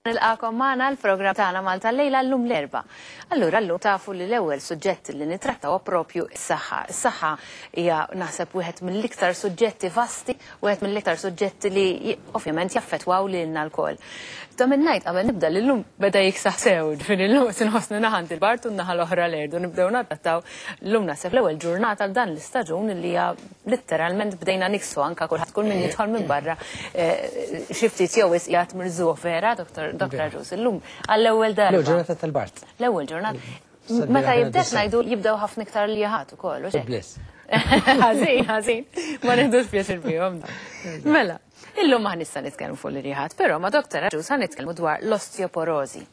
Nilqagħkom magħna l-programm tagħna Malta Llejla llum l-Erbgħa. Allura llum tafu li l-ewwel suġġett li nittrattaw huwa propju s-saħħa. Is-saħħa hija naħseb wieħed mill-iktar suġġetti vasti, wieħed mill-iktar suġġetti li ovvjament jaffettwaw lilna lkoll. Ta' min ngħid qabel nibda li llum beda jiksaħ sew, ġifieri llum se nħossni naħa għand il-bard u n-naħa l-oħra l-erd u nibdew nadattaw llum naħseb l-ewwel ġurnata għal dan l-istaġun li hija Litteralment bdejna niksu anka kulħadd kull min jidħol minn barra eh, xi ftit jew wisq jgħid mirżuh vera, Dr. Dr. Aġus, illum għall-ewwel darba. L-ewwel ġurnata tal-Bart. L-ewwel ġurnata. Meta jibdet ngħidu jibdew ħafna iktar li jħat ukoll. Bliss. Ħażin, ħażin, ma nieħdux pjaċir bihom. Mela, illum ma nista' nitkellmu fuq l-irjaħat, però ma' Dr. Aġus ħa nitkellmu dwar l-osteoporożi.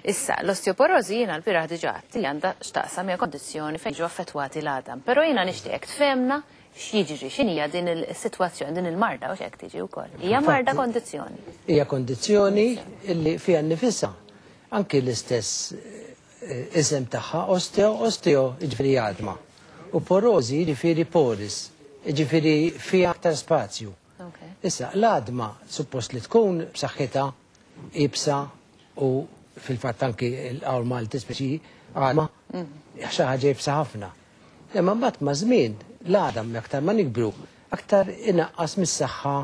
Issa, l-osteoporożi jiena l-bieraħ diġà għedt li għandha x'taqsam hija kondizzjoni fejn jiġu affettwati l-għadam. Però jiena nixtieqek tfehmna x'jiġri, x'inhija din is-sitwazzjoni, din il-marda u x'hekk tiġi wkoll. Hija marda kondizzjoni. Hija kondizzjoni li fiha nnifisha anki l-istess eh, isem tagħha osteo, osteo jiġifieri għadma. U porożi jiġifieri poris, jiġifieri fiha aktar spazju. Issa, l-għadma suppost li tkun b'saħħitha iebsa u fil-fatt anki l-qawl Malti speċi għadma xi ħaġa iebsa ħafna. Imma mbagħad ma' żmien l-għadam aktar ma nikbru aktar inaqqas mis-saħħa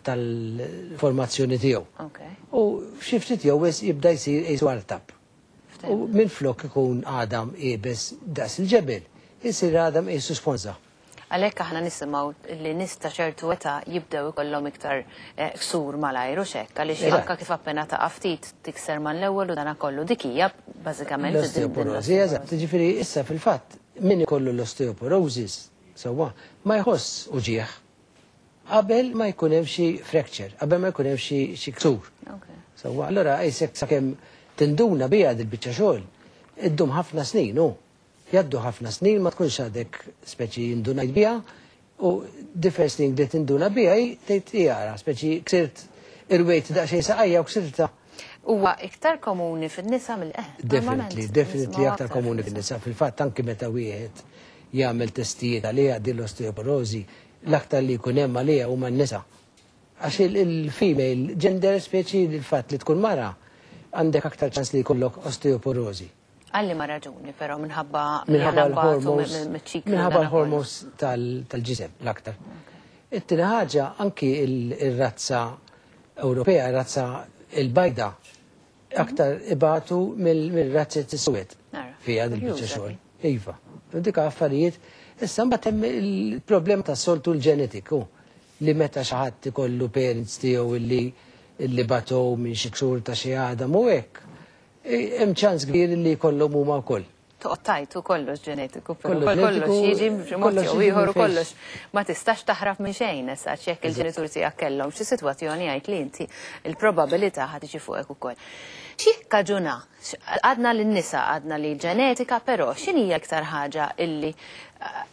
tal-formazzjoni tiegħu. U xi ftit jew wisq jibda jsir qisu artab. U minflok ikun għadam iebes daqs il-ġebel, isir għadam qisu sponża. Għalhekk aħna nisimgħu li nies ta' ċertu età jibdew ikollhom iktar ksur malajr hux hekk għaliex anke kif appena taqa' ftit tikser mal-ewwel u dana kollu. Dik hija bażikament din l-osteoporożi. Eżatt, jiġifieri issa fil-fatt min ikollu l-osteoporosis sewwa ma jħoss uġigħ qabel ma jkun hemm xi fracture, qabel ma jkun hemm xi ksur. Sewwa, allura qisek sakemm tinduna biha dil-biċċa xogħol iddum ħafna snin hu. Jgħaddu ħafna snin ma tkunx għadek speċi indunajt biha u the first thing li tinduna biha hi tgħid hi ara speċi ksirt irwejt daqsxejn saqajja u ksirtha. Huwa iktar komuni fin-nisa mill eh, Definitely, definitely aktar komuni fin-nisa. Fil-fatt anki meta wieħed jagħmel testijiet għaliha din l-osteoporożi, l-aktar li jkun hemm għaliha huma n-nisa. Għax il-female gender speċi l-fatt li tkun mara għandek aktar ċans li jkollok osteoporożi. Għal liema raġuni però minħabba Minħabba l-hormones minħabba l-hormones tal-ġisem l-aktar. It-tieni ħaġa anki il-razza Ewropea, razza il-bajda, aktar ibatu mill-razzet is-suwed fiha dil-biċċa xogħol. Iva. Dik affarijiet. Issa mbagħad hemm il-problema tas-soltu l-ġenetiku li meta xi ħadd ikollu parents tiegħu illi illi batow minn xi ksur ta' xi għadam u hekk, Hemm ċans kbir li jkollhom huma wkoll. Toqgħod tgħid hu kollox ġenetiku, però kollox jiġi b'xi mod jew ieħor u kollox ma tistax taħrab minn xejn issa għax jekk il-ġenituri tiegħek kellhom xi sitwazzjoni għid li inti l-probabilità ħa tiġi fuqek ukoll. X'jikkaġuna? Għadna lin-nisa, għadna li l-ġenetika, però x'inhi l-iktar ħaġa illi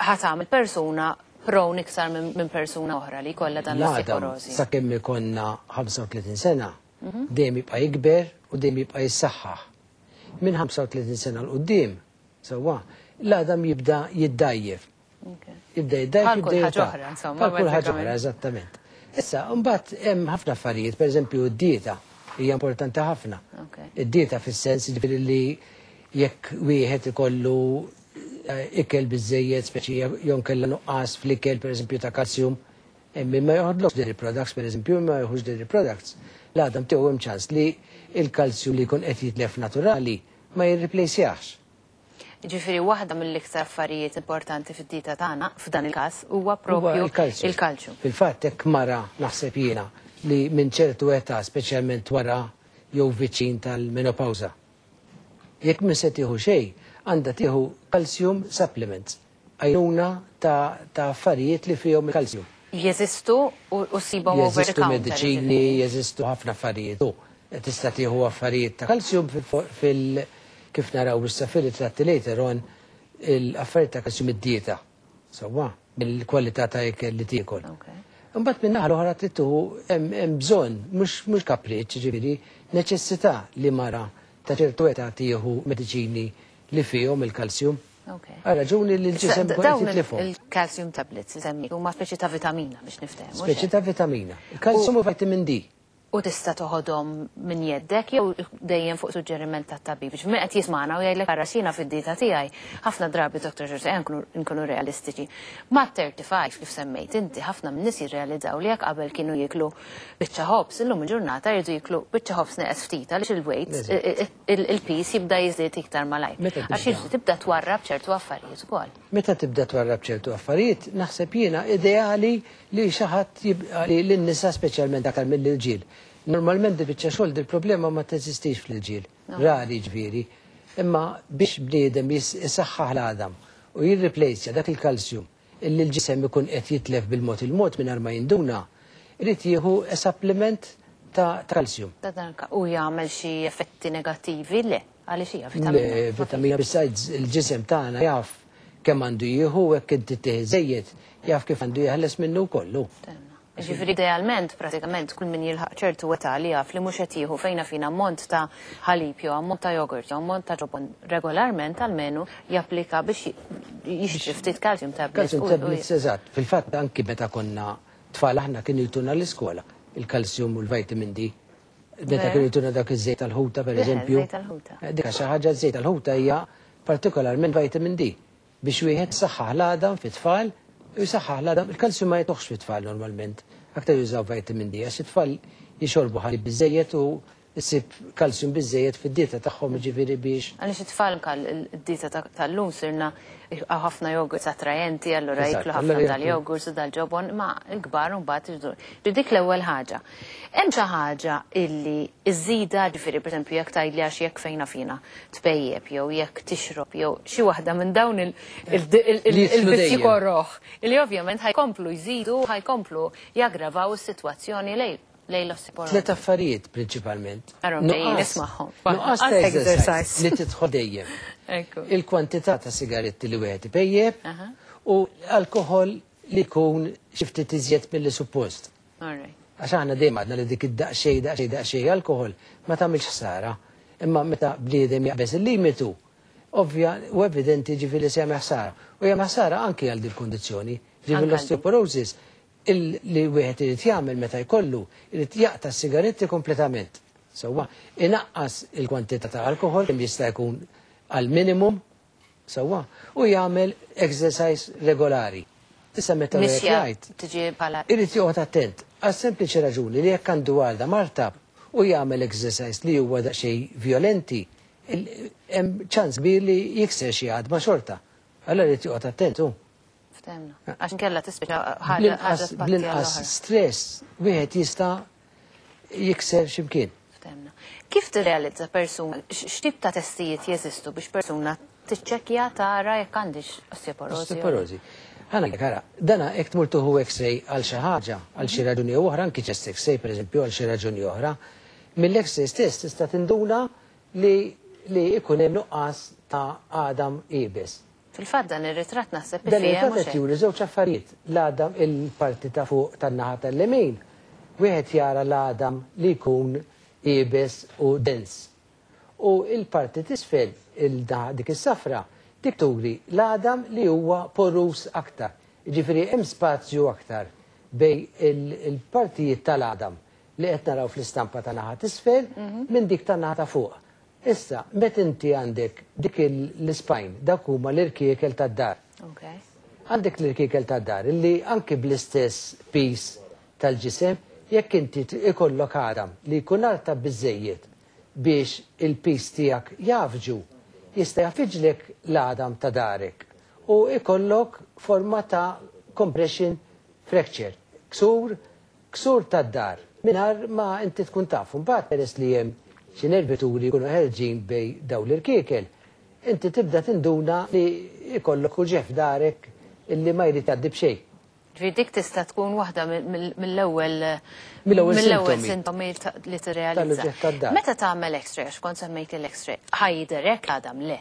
ħa tagħmel persuna prone iktar minn persuna oħra li jkollha dan l-osteoporożi? Sakemm ikollna 35 sena, Dejjem jibqa' jikber u dejjem jibqa' jissaħħaħ. Minn 35 sena 'l quddiem, sewwa, l-għadam jibda jiddgħajjef. Jibda jiddgħajjef, jibda jirtaħ. Bħal kull ħaġa oħra, eżattament. Issa, mbagħad hemm ħafna affarijiet, pereżempju d-dieta hija importanti ħafna. Id-dieta fis-sens jiġifieri li jekk wieħed ikollu eh, ikel biżejjed, speċi jew kellha nuqqas fl-ikel pereżempju ta' kalsjum, Hemm min ma joħodlokx dairy products, pereżempju, min ma jieħux dairy products, l-għadam tiegħu hemm ċans li l-kalzju li jkun qed jitlef naturali ma jirriplejsjahx. Jiġifieri waħda mill-iktar affarijiet importanti fid-dieta tagħna, f'dan il-każ, huwa proprju il-kalċju. Fil-fatt hekk mara, naħseb jiena, li minn ċertu età, speċjalment wara jew viċin tal-menopawża, jekk mhi se tieħu xejn, għandha tieħu calcium supplements. Għajnuna ta' ta' affarijiet li fihom il-kalzju. Jeżistu u ssibhom over the Jeżistu counter, mediċini, jiġifieri. jeżistu ħafna affarijiet u tista' tieħu affarijiet ta' kalzju fil kif naraw issa fir-ritratti later on l-affarijiet ta' kalzju mid-dieta. Sewwa, mill-kwalità ta' ikel li tiekol. Imbagħad min-naħa l-oħra trid tieħu hemm bżonn mhux mhux kapriċċ jiġifieri neċessità li mara ta' ċertu età tieħu mediċini li fihom il-kalzju. Għal raġuni li l-ġisem ikun qed jitlifhom. Il-calcium tablets li semmejt huma speċi ta' vitamina biex niftehmu. Speċi ta' vitamina. Il-calcium u vitamin D. U tista' toħodhom minn jeddek jew dejjem fuq suġġeriment tat-tabib. Biex min qed jismagħna u jgħidlek ara x'jiena fid-dieta tiegħi, ħafna drabi Dr. George ejja nkunu realistiċi. Mat-35 kif semmejt inti ħafna min-nies jirrealizzaw li jekk qabel kienu jieklu biċċa ħobż, illum il-ġurnata jridu jieklu biċċa ħobż neqes ftit għaliex il-weight, il-piż jibda jiżdied iktar malajr. Għax tibda twarrab ċertu affarijiet ukoll. Meta tibda twarrab ċertu affarijiet, naħseb jiena ideali li xi ħadd jibqa' li lin-nisa speċjalment aktar mill-irġiel. Normalment dil-biċċa xogħol dil-problema ma teżistix fl-irġiel. Rari ġifieri. Imma biex bniedem isaħħaħ l-għadam u jirriplejsja dak il-kalsjum illi l-ġisem ikun qed jitlef bil-mod il-mod mingħajr ma jinduna, irid jieħu supplement ta' kalsjum. Ta' dan u jagħmel xi effetti negattivi? Le, għaliex hija vitamina. Le, vitamina besides il-ġisem tagħna jaf kemm għandu jieħu u hekk inti tieħ żejjed jaf kif għandu jeħles minnu kollu. Ġifieri idealment, pratikament, kull min jilħaq ċertu età li jaf li mhux qed jieħu fejna fina ammont ta' ħalib jew ammont ta' jogurt jew ammont ta' ġobon regolarment almenu japplika biex jixtri ftit calcium tablets. Calcium tablets, eżatt. Fil-fatt anki meta konna tfal aħna kienu jtuna l-iskola il-kalsjum u l-vitamin D. Meta kienu jtuna dak iż-żejt tal-ħuta, per eżempju. Dik xi ħaġa żejt tal-ħuta hija partikolarment vitamin D biex wieħed saħħaħ l-għadam fit-tfal u jsaħħaħ l-għadam. Il-kalsjum ma jtuħx fit-tfal normalment. Aktar jużaw vitamin D għax it-tfal jixorbu ħalib biżejjed u issib kalsjum biżejjed fid-dieta tagħhom ġifieri biex. Għaliex it-tfal kal id-dieta tal-lum sirna ħafna jogurts attrajenti, allura jiklu ħafna dal-jogurts u dal-ġobon, ma l-kbar mbagħad iġdur. Dik l-ewwel ħaġa. Hemm xi ħaġa illi iżida ġifieri pereżempju jekk tgħidli għax jekk fejna fina tpejjep jew jekk tixrob jew xi waħda minn dawn il-vizzji koroħ illi ovvjament ħa jkomplu jżidu, ħa jkomplu jaggravaw is-sitwazzjoni lejn l-osteoporosi. Tlet affarijiet prinċipalment. Nismagħhom. Nuqqas ta' exercise li tidħol dejjem. Il-kwantità ta' sigaretti li wieħed ipejjep u alkoħol li jkun xi ftit iżjed milli suppost. Għax aħna dejjem għadna li dik id-daqsxejn daqsxejn daqsxejn alkoħol ma tagħmilx ħsara. Imma meta bniedem jaqbeż il-limitu, ovvja u evidenti ġifieri se jagħmel ħsara. U jagħmel ħsara anki għal dil-kundizzjoni. Ġifieri l-osteoporosis li wieħed irid jagħmel meta jkollu, irid jaqta' s-sigaretti kompletament. Sewwa, inaqqas il-kwantità ta' alkoħol kemm jista' jkun għal minimum, sewwa, u jagħmel exercise regolari. Issa meta wieħed jgħid, irid joqgħod attent għas sempliċi raġuni li jekk għandu għalda martab u jagħmel exercise li huwa daqsxejn violenti, hemm ċans kbir li jikser xi għadma xorta. Allora irid joqgħod attent hu. Ftehmna. Għax inkella tispiċċa ħaġa Bl-inqas stress wieħed jista' jikser x'imkien. Ftehmna. Kif tirrealizza persuna, x'tip ta' testijiet jeżistu biex persuna tiċċekkja tara jekk għandix osteoporosi? Osteoporosi. Ħa ngħidlek ara, dana jekk tmur tieħu X-ray għal xi ħaġa, għal xi raġuni jew oħra, anki chest X-ray pereżempju għal xi raġuni oħra, mill-X-ray stess tista' tinduna li li jkun hemm nuqqas ta' għadam iebes. Fil-fatt dan ir-ritratt naħseb Dan ir-ritratt qed juri żewġ affarijiet, l-għadam il-parti ta' fuq tan-naħa tal-lemin, wieħed jara l-għadam li jkun iebes u dens. U l-parti t'isfel, il-naħa dik is-safra, dik turi l-għadam li huwa poruż aktar. Jiġifieri hemm spazju aktar bejn il-partijiet tal-għadam li qed naraw fl-istampa ta' naħa t'isfel minn dik tan-naħa ta' fuq. Issa, meta inti għandek dik l-ispine, dak huma l-irkiekel tad-dar. Għandek l-irkiekel tad-dar illi anki bl-istess piż tal-ġisem, jekk inti ikollok għadam li jkun artab biżżejjed biex il-piż tiegħek jgħaffġu, jista' jgħaffiġlek l-għadam ta' darek u ikollok forma ta' compression fracture, ksur Ksur tad-dar, mingħajr ma inti tkun taf. Imbagħad peress li hemm xi nervituri jkunu ħerġin bejn dawn l-irkiekel, inti tibda tinduna li jkollok uġigħ f'darek illi ma jrid jgħaddi b'xejn. Ġifieri dik tista' tkun waħda mill-ewwel mill-ewwel sintomi li tirrealizza. Tal-uġigħ tad-dar. Meta tagħmel X-ray, għax kont semmejt l-X-ray, ħa jidher hekk l-għadam? Le.